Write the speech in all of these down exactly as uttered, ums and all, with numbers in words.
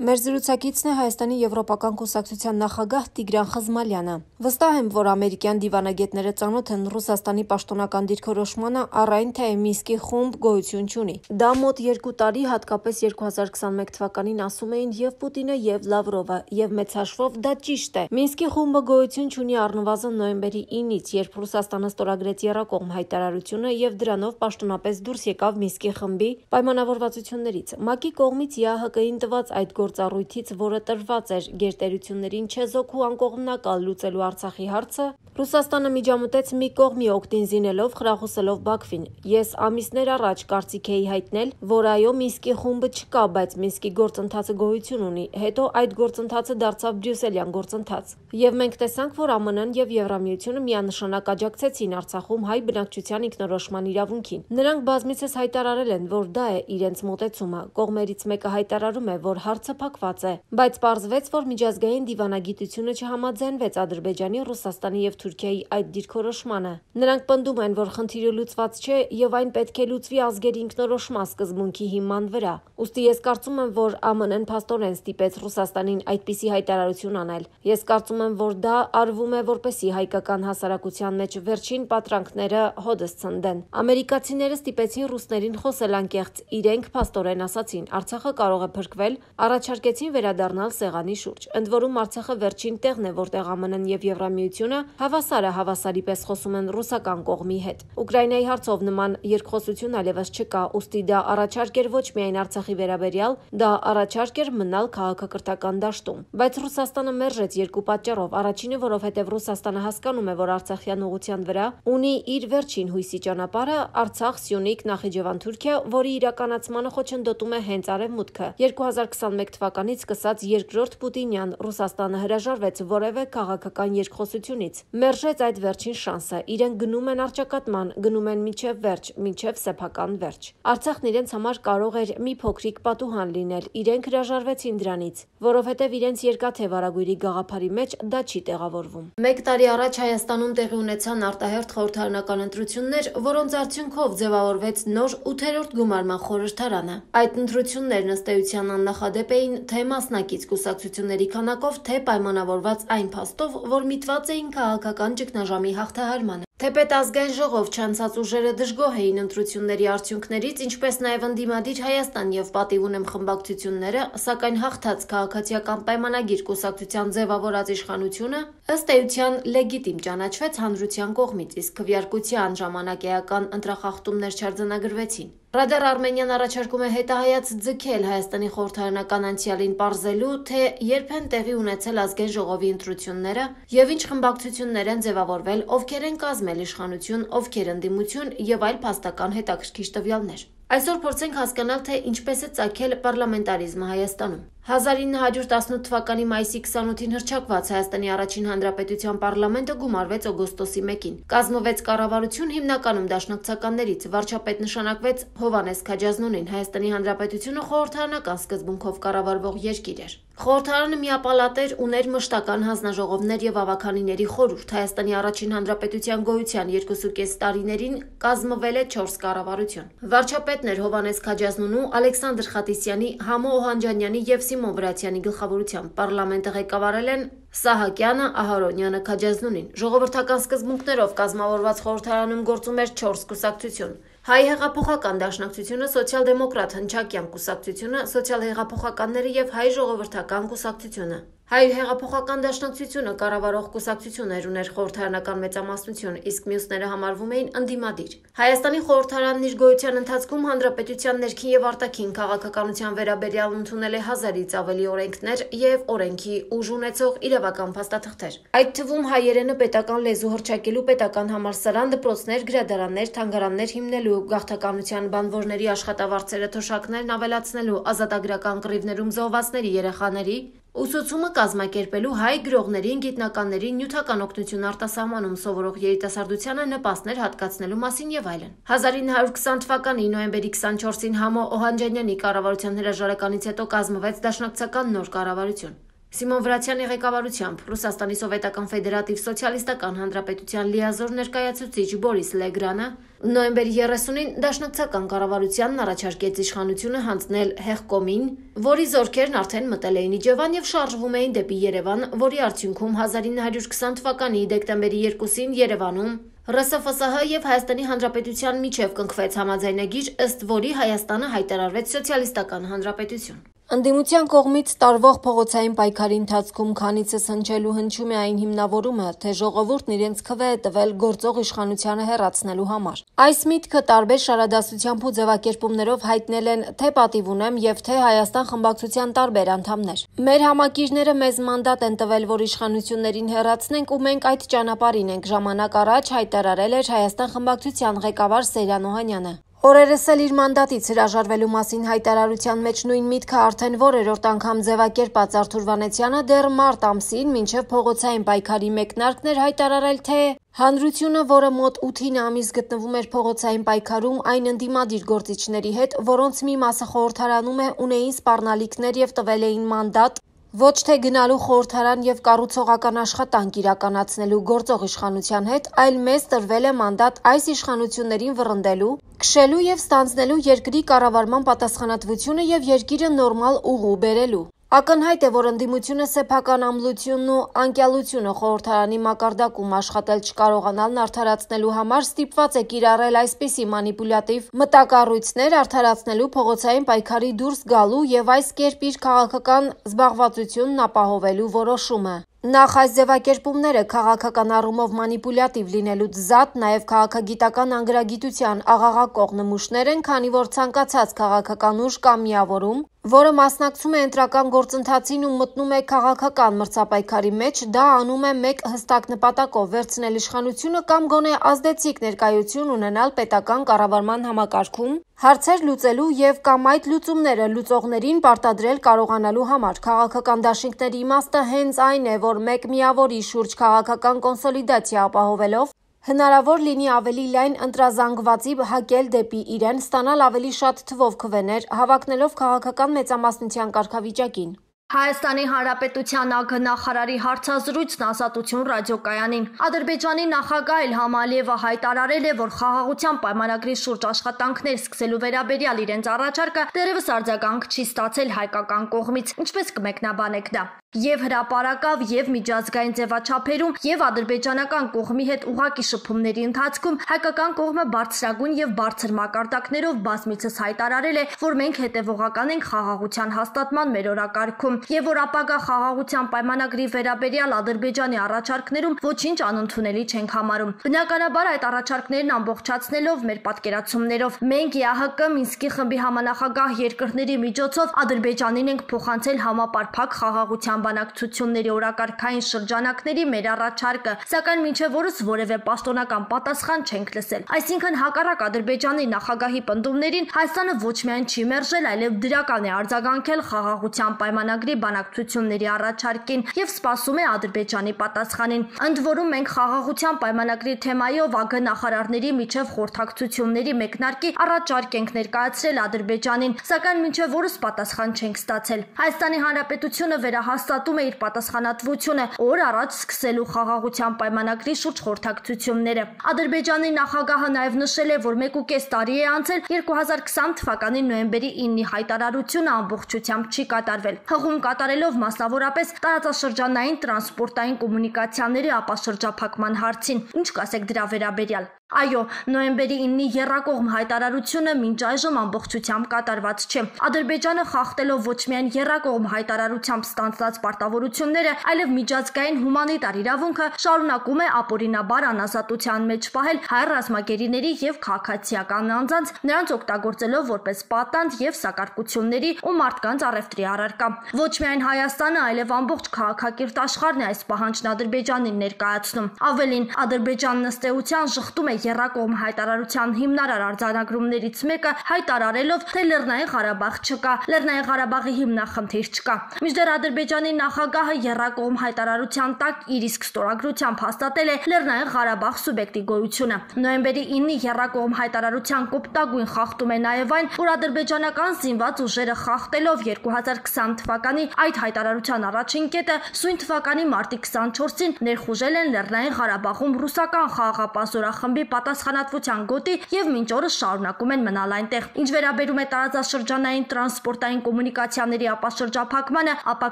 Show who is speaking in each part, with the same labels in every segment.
Speaker 1: Մեր զրուցակիցն է Հայաստանի Եվրոպական կուսակցության նախագահ Տիգրան Խզմալյանը։ Վստահ եմ, որ ամերիկյան դիվանագետները ծանոթ են Ռուսաստանի պաշտոնական դիրքորոշմանը, առայն թե Մինսկի խումբ գոյություն չունի։ Դա մոտ երկու տարի, հատկապես երկու հազար քսաներկու թվականին ասում էին և Պուտինը, և Լավրովը, և մեծ հաշվով դա ճիշտ է։ Մինսկի խումբը գոյություն չունի առնվազն նոյեմբերի ինից, երբ Ռուսաստանը ստորագրեց եռակողմ հայտարարությունը և դրանով պաշտոնապես դուրս եկավ Մինսկի խմբի պայմանավորվածություններից։ ՄԱԿ-ի կողմից ԵԱՀԿ-ին տված այդ գործառույթից, որը տրված էր գերտերություններին չեզոք ու անկողմնակալ լուծելու Արցախի հարցը, Ռուսաստանը միջամտեց մի կողմի օգտին զինելով, խրախուսելով Բաքվին։ Ես ամիսներ առաջ կարծիք էի հայտնել, որ այո, Մինսկի խումբը չկա, բայց Մինսկի գործընթացը գոյություն ունի, հետո այդ գործընթացը դարձավ բրյուսելյան գործընթաց։ Եվ մենք տեսանք, որ ԱՄՆ-ն և Եվրամիությունը միանշանակ աջակցեցին Արցախում հայ բնակչության ինքնորոշման իրավունքին։ Նրանք բազմիցս հայտարարել են, որ դա է իրենց մոտեցումը։ Կողմերից մեկը հայտարարում է, որ հարցը փակված է, բայց պարզվեց, որ միջազգային դիվանագիտությունը չհամաձայնվեց Ադրբեջանի, Ռուսաստանի և Թուրքիայի այդ դիրքորոշմանը։ Նրանք պնդում են, որ խնդիրը լուծված չէ և այն պետք է լուծվի ազգերի ինքնորոշման սկզբունքի հիման վրա։ Ուստի ես կարծում եմ, որ ԱՄՆ-ն փաստորեն ստիպեց Ռուսաստանին այդպիսի հայտարարություն անել։ Ես կարծում եմ, որ դա արվում է, որպեսզի հայկական հասարակության մեջ վերջին պատրանքները հօդս ցնդեն։ Ամերիկացիները ստիպեցին ռուսներին խոսել անկեղծ, իրենք փաստորեն ասացին՝ Արցախը կարող է փրկվել, առաջարկեցին վերադառնալ սեղանի շուրջ։ Ընդ որում Արցախը վերջին տեղն է, որտեղ ԱՄՆ-ն և Եվրամիությունը հավասարը հավասարի պես խոսում են ռուսական կողմի հետ։ Ուկրաինայի հարցով նման երկխոսություն այլևս չկա, ուստի դա առաջարկ էր ոչ միայն Արցախի վերաբերյալ, դա առաջարկ էր մնալ քաղաքակրթական դաշտում։ Բայց Ռուսաստանը մերժեց երկու պատճառով։ Առաջինը, որովհետև Ռուսաստանը հասկանում է, որ արցախյան ուղղության վրա ունի իր վերջին հույսի ճանապարհը՝ Արցախ, Սյունիք, Նախիջևան, Թուրքիա, որի իրականացմանը խոչընդոտում է հենց Արևմուտքը։ երկու հազար քսաներկու թվականից սկսած երկրորդ Պուտինյան Ռուսաստանը հրաժարվեց որևէ քաղաքական երկխոսությունից, մերժեց այդ վերջին շանսը։ Իրենք գնում են առճակատման, գնում են մինչև վերջ, մինչև սեփական վերջ։ Արցախն իրենց համար կարող էր մի փոքրիկ պատուհան լինել, իրենք հրաժարվեցին դրանից, որովհետև իրենց երկաթե վարագույրի գաղափարի մեջ դա չի տեղավորվում։ Մեկ տարի առաջ Հայաստանում տեղի ունեցան արտահերթ խորհրդարանական ընտրություններ, որոնց արդյունքով ձևավորվեց նոր ութերորդ գումարման խորհրդարանը։ Այդ ընտրություններն ըստ էության աննախադեպ էին թե մասնակից կուսակցությունների քանակով, թե պայմանավորված այն փաստով, որ միտված էին քաղաքական ճգնաժամի հաղթահարմանը։ Թեպետ ազգային ժողով չանցած ուժերը դժգոհ էին ընտրությունների արդյունքներից, ինչպես նաև ընդդիմադիր Հայաստան և պատիվ ունեմ խմբակցությունները, սակայն հաղթած քաղաքացիական պայմանագիր կուսակցության ձևավորած իշխանությունը ըստ էության լեգիտիմ ճանաչվեց հանրության կողմից, իսկ քվեարկության ժամանակ էական ընտրախախտումներ չարձանագրվեցին։ Ռադար Արմենիան առաջարկում է հետահայաց ձգել Հայաստանի խորհրդարանական անցյալին պարզելու, թե երբ են տեղի ունեցել ազգային ժողովի ընտրությունները և ինչ խմբակցություններ են ձևավորվել, ովքեր են կազմել իշխանություն, ովքեր ընդդիմություն և այլ փաստական հետաքրքիր տվյալներ։ Այսօր փորձենք հասկանալ, թե ինչպես է ծագել պարլամենտարիզմը Հայաստանում։ հազար ինը հարյուր տասնութ թվականի մայիսի քսանութին հռչակված Հայաստանի առաջին հանրապետության պարլամենտը գումարվեց օգոստոսի մեկին։ Կազմվեց կառավարություն հիմնականում դաշնակցականներից, վարչապետ նշանակվեց Հովհաննես Քաջազնոնին։ Հայաստանի Հանրապետությունը խորհրդարանական սկզբունքով կառավարվող երկիր էր։ Խորհրդարանը միապալատ էր, ուներ մշտական հանձնաժողովներ և ավականիների խորհուրդ։ Հայաստանի առաջին հանրապետության գոյության երկուսուկես տարիներին կազմվել է չորս կառավարություն։ Վարչապետներ Հովհաննես Քաջազնոնու, Ալեքսանդր Խատիսյանի, Համո Օհանջանյանի և Սիմոն Վրացյանի գլխավորությամբ պարլամենտը ղեկավարել են Սահակյանը, Ահարոնյանը, Քաջազնոնին։ Ժողովրդական սկզբունքներով կազմավորված խորհրդարանում գործում էր չորս կուսակցություն՝ Հայ հեղափոխական դաշնակցությունը, Սոցիալ-դեմոկրատ հնչակյան կուսակցությունը, Սոցիալ-հեղափոխականները և Հայ ժողովրդական կուսակցությունը։ Հայ հեղափոխական դաշնակցությունը կառավարող կուսակցություն էր, ուներ խորհրդարանական մեծամասնություն, իսկ մյուսները համարվում էին ընդդիմադիր։ Հայաստանի խորհրդարանն իր գոյության ընթացքում հանրապետության ներքին և արտաքին քաղաքականության վերաբերյալ ընդունել է հազարից ավելի օրենքներ և օրենքի ուժ ունեցող իրավական փաստաթղթեր։ Այդ թվում հայերենը պետական լեզու հռչակելու պետական համալսարան, դպրոցներ, գրադարաններ, թանգարաններ հիմնելու, գաղթականության բանվորների աշխատավարձերը թոշակներն ավելացնելու, ազատագրական կռիվներում զոհվածների երեխաների ուսուցումը կազմակերպելու, հայ գրողներին, գիտնականներին նյութական օգնություն արտասահմանում սովորող երիտասարդությանը նպաստներ հատկացնելու մասին և այլն։ հազար ինը հարյուր քսան թվականի նոյեմբերի քսանչորսին Համո Օհանջանյանի կառավարության հրաժարականից հետո կազմվեց դաշնակցական նոր կառավարություն։ Սիմոն Վրացյանի ղեկավարությամբ Ռուսաստանի Սովետական Ֆեդերատիվ Սոցիալիստական Հանրապետության լիազոր ներկայացուցիչ Բորիս Լեգրանը նոյեմբերի երեսունին դաշնակցական կառավարությանն առաջարկեց իշխանությունը հանձնել Հեղկոմին, որի զորքերն արդեն մտել էին Իջևան եւ շարժվում էին դեպի Երևան, որի արդյունքում հազար ինը հարյուր քսան թվականի դեկտեմբերի երկուսին Երևանում Ռ Սֆ Սհ եւ Հայաստանի Հանրապետության միջև կնքվեց համաձայնագիր, ըստ որի Հայաստանը հայտարարվեց սոցիալիստական հանրապետություն։ Ընդդիմության կողմից տարվող փողոցային պայքարի ընթացքում քանիցս հնչելու հնչում է այն հիմնավորումը, թե ժողովուրդն իրենց քվե է տվել գործող իշխանությանը հեռացնելու համար։ Այս միտքը տարբեր շարադասությամբ ու ձևակերպումներով հայտնել են թե պատիվ ունեմ եւ թե Հայաստան խմբակցության տարբեր անդամներ։ Մեր համակիրները մեզ մանդատ են տվել, որ իշխանություններին հեռացնենք ու մենք այդ ճանապարհին ենք, ժամանակ առաջ հայտարարել էր Հայաստան խմբակցության ղեկավար Սեյրան Օհանյանը։ Օրերս էլ իր մանդատից հրաժարվելու մասին հայտարարության մեջ նույն միտքը արդեն որերորդ անգամ ձևակերպած Արթուր Վանեցյանը դեռ մարտ ամսին մինչև փողոցային պայքարի մեկնարկն էր հայտարարել, թե հանրությունը, որը մոտ ութ ամիս գտնվում էր փողոցային պայքարում այն ընդդիմադիր գործիչների հետ, որոնց մի մասը խորհրդարանում է, ունեին սպառնալիքներ եւ տվել էին մանդատ ոչ թե գնալու խորհրդարան եւ կառուցողական աշխատանք իրականացնելու գործող իշխանության հետ, այլ մեզ տրվել է մանդատ այս իշխանություններին վռնդելու, քշելու եւ ստանձնելու երկրի կառավարման պատասխանատվությունը եւ երկիրը նորմալ ուղու բերելու։ Ակնհայտ է, որ ընդդիմությունը սեփական ամլությունն ու անկյալությունը խորհրդարանի մակարդակում աշխատել չկարողանալն արդարացնելու համար ստիպված է կիրառել այսպիսի մանիպուլյատիվ մտակառույցներ արդարացնելու փողոցային պայքարի դուրս գալու եւ այս կերպ իր քաղաքական զբաղվածությունն ապահովելու որոշումը։ Նախ այս ձևակերպումները քաղաքական առումով մանիպուլյատիվ լինելուց զատ նաև քաղաքագիտական անգրագիտության աղաղակող նմուշներ են, քանի որ ցանկացած քաղաքական ուժ կամ միավորում, որը մասնակցում է ընտրական գործընթացին ու մտնում է քաղաքական մրցապայքարի մեջ, դա անում է մեկ հստակ նպատակով վերցնել իշխանությունը կամ գոնե ազդեցիկ ներկայություն ունենալ պետական կառավարման համակարգում, հարցեր լուծելու եւ կամ այդ լուծումները լուծողներին պարտադրել կարողանալու համար։ Քաղաքական դաշինքների իմաստը հենց այն է, որ մեկ միավորի շուրջ քաղաքական կոնսոլիդացիա ապահովելով հնարավոր լինի ավելի լայն ընտրազանգվածի հակել դեպի իրեն, ստանալ ավելի շատ թվով քվեներ, հավակնելով քաղաքական մեծամասնության կարգավիճակին։
Speaker 2: Հայաստանի Հանրապետության ԱԳ-նախարարի հարցազրույցն Ազատություն ռադիոկայանին։ Ադրբեջանի նախագահ Իլհամ Ալիևը հայտարարել է, որ խաղաղության պայմանագրի շուրջ աշխատանքներ սկսելու վերաբերյալ իրենց առաջարկը դեռևս արձագանք չի ստացել հայկական կողմից, ինչպես կմեկնաբանեք դա։ Եվ հրապարակավ, եւ միջազգային ձևաչափերում, եւ ադրբեջանական կողմի հետ ուղակի շփումների ընթացքում հայկական կողմը բարձրագույն եւ բարձր մակարդակներով բազմիցս հայտարարել է, որ մենք հետեւողական ենք խաղաղության հաստատման մեր օրակարգում եւ որ ապագա խաղաղության պայմանագրի վերաբերյալ Ադրբեջանի առաջարկներում ոչինչ անընդունելի չենք համարում։ Բնականաբար այդ առաջարկներն ամբողջացնելով մեր պատկերացումներով մենք Է Ահ Կը Մինսկի խմբի համանախագահ երկրների միջոցով Ադրբեջանին ենք փոխանցել համապարփակ խաղաղության բանակցությունների օրակարգային շրջանակների մեր առաջարկը, սակայն մինչև օրս որևէ պաշտոնական պատասխան չենք լսել։ Այսինքն հակառակ Ադրբեջանի նախագահի պնդումներին Հայաստանը ոչ միայն չի մերժել, այլև դրական է արձագանքել խաղաղության պայմանագրի բանակցությունների առաջարկին եւ սպասում է Ադրբեջանի պատասխանին։ Ընդ որում մենք խաղաղության պայմանագրի թեմայով ԱԳ նախարարների միջև խորհրդակցությունների մեկնարկի առաջարկ ենք ներկայացրել Ադրբեջանին, սակայն մինչև օրս պատասխան չենք ստացել։ Հայաստանի Հանրապետությունը վերահաստատում է իր պատասխանատվությունը օր առաջ սկսելու խաղաղության պայմանագրի շուրջ խորհրդակցությունները։ Ադրբեջանի նախագահը նաև նշել է, որ մեկ ու կես տարի է անցել երկու հազար քսան թվականի նոյեմբերի իննի հայտարարությունը ամբողջությամբ չի կատարվել։ Հղում կատարելով մասնավորապես տարածաշրջանային տրանսպորտային կոմունիկացիաների ապաշրջափակման հարցին։ Ինչ կասեք դրա վերաբերյալ։ Այո, նոյեմբերի իննի եռակողմ հայտարարությունը մինչ այժմ ամբողջությամբ կատարված չէ։ Ադրբեջանը խախտելով ոչ միայն եռակողմ հայտարարությամբ ստանձնած պարտավորությունները, այլև միջազգային հումանիտար իրավունքը շարունակում է ապօրինաբար անազատության մեջ պահել հայ ռազմագերիների եւ քաղաքացիական անձանց, նրանց օգտագործելով որպես պատանդ եւ սակարկությունների ու մարդկանց առևտրի առարկա։ Ոչ միայն Հայաստանը, այլև ամբողջ քաղաքակիրթ աշխարհն է այս պահանջն Ադրբեջանին ներկայացնում։ Ավելին, Ադրբեջանն ըստ էության շղթում է եռակողմ հայտարարության հիմնարար արձանագրումներից մեկը հայտարարելով, թե Լեռնային Ղարաբաղ չկա, Լեռնային Ղարաբաղի հիմնախնդիր չկա։ Մինչդեռ Ադրբեջանի նախագահը եռակողմ հայտարարության տակ իր իսկ ստորագրությամբ հաստատել է Լեռնային Ղարաբաղ սուբյեկտի գոյությունը։ Նոյեմբերի ինը եռակողմ հայտարարության կոպտագույն խախտում է նաև այն, որ ադրբեջանական զինված ուժերը խախտելով երկու հազար քսան թվականի այդ հայտարարության առաջին կետը սույն թվականի մարտի քսանչորսին ներխուժել են Լեռնային Ղարաբաղում ռուսական խաղաղապահ զորախմբի պատասխանատվության գոտի եւ մինչ օրս շարունակում են մնալ այնտեղ։ Ինչ վերաբերում է տարածաշրջանային տրանսպորտային կոմունիկացիաների ապաշրջափակմանը, ապա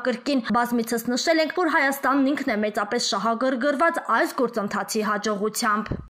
Speaker 2: կրկին բազմիցս նշել ենք, որ Հայաստանն ինքն է մեծապես շահագրգռված այս գործընթացի հաջողությամբ։